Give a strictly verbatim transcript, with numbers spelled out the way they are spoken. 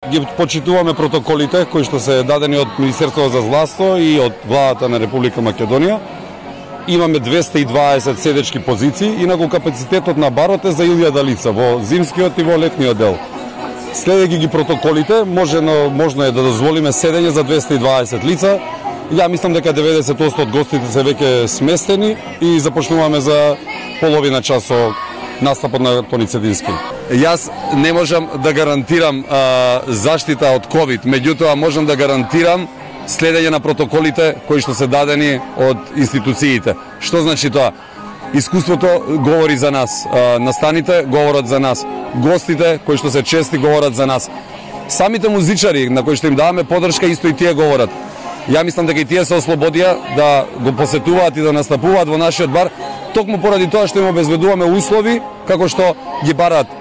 Ги почитуваме протоколите кои што се дадени од Министерството за здравство и од владата на Република Македонија. Имаме двесте и дваесет седечки позиции, инаку капацитетот на барот е за илјада лица во зимскиот и во летниот дел. Следејќи ги протоколите, можено, можно е да дозволиме седење за двесте и дваесет лица. Ја мислам дека деветдесет проценти од гостите се веќе сместени и започнуваме за половина час со настапот на Тони Цетински. Јас не можам да гарантирам а, заштита од ковид, меѓутоа можам да гарантирам следење на протоколите кои што се дадени од институциите. Што значи тоа? Искуството говори за нас, а, настаните говорат за нас, гостите кои што се чести говорат за нас. Самите музичари на кои што им даваме поддршка исто и тие говорат. Ја мислам дека и тие се ослободија да го посетуваат и да настапуваат во нашиот бар, токму поради тоа што им обезбедуваме услови како што ги бараат